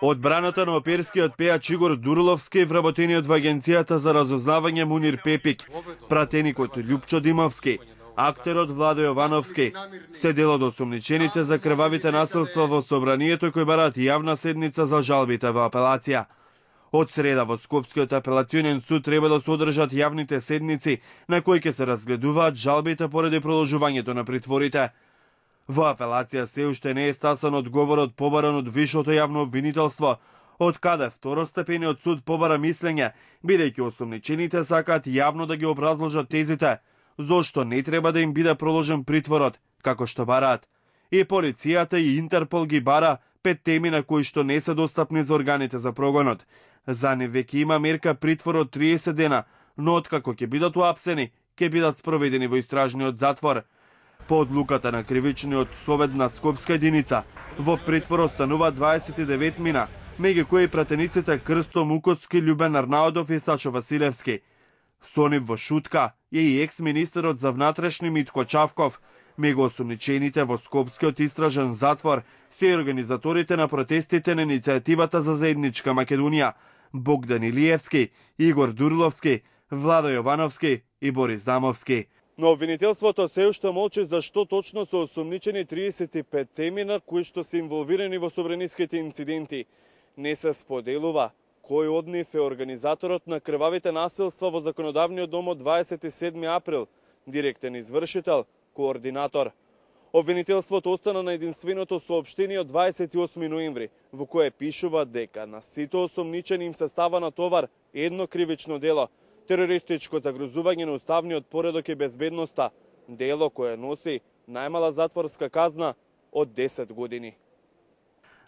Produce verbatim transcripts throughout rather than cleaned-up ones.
Одбраната на оперскиот пејач Игор Дурловски, вработениот во Агенцијата за разузнавање Мунир Пепик, пратеникот Љупчо Димовски, актерот Владо Јовановски, се дел од осомничените за крвавите насилства во собранието кои бараат јавна седница за жалбите во апелација. Од среда во Скопскиот апелационен суд треба да се одржат јавните седници на кои ќе се разгледуваат жалбите поради продолжувањето на притворите. Во апелација се уште не е стасан одговорот побаран од висшото јавно обвинителство, од каде второстепениот суд побара мислење, бидејќи осомничените сакаат јавно да ги образложат тезите, зошто не треба да им биде проложен притворот, како што бараат. И полицијата и Интерпол ги бара пет теми на кои што не се достапни за органите за прогонот. За нив веќе има мерка притвор од триесет дена, но откако ќе бидат уапсени, ќе бидат спроведени во истражниот затвор. По одлуката на кривичниот совет на Скопска единица, во притвор остануваат дваесет и девет мина, меѓу кои пратениците Крсто Мукоски, Љубен Арнаудов и Сашо Василевски. Со нив во шутка е и екс-министерот за внатрешни Митко Чавков. Меѓу осомничените во Скопскиот истражен затвор се и организаторите на протестите на иницијативата за заедничка Македонија, Богдан Илиевски, Игор Дурловски, Владо Јовановски и Борис Дамовски. Но обвинителството се уште молчи зашто точно се осомничени триесет и пет теми на кои што се инволвирани во собраниските инциденти. Не се споделува кој од нив е организаторот на крвавите насилства во Законодавниот дом од дваесет и седми април, директен извршител, координатор. Обвинителството остана на единственото соопштение од дваесет и осми ноември, во кое пишува дека на сите осомничени им се става на товар едно кривично дело, терористичко загрозување на уставниот поредок и безбедноста, дело кое носи најмала затворска казна од десет години.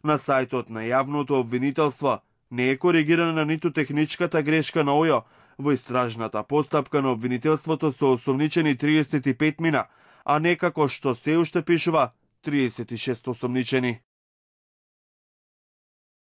На сајтот на јавното обвинителство не е коригирана ниту техничката грешка на ОЈО. Во истражната постапка на обвинителството се осомничени триесет и пет мина, а не како што се уште пишува триесет и шест осомничени.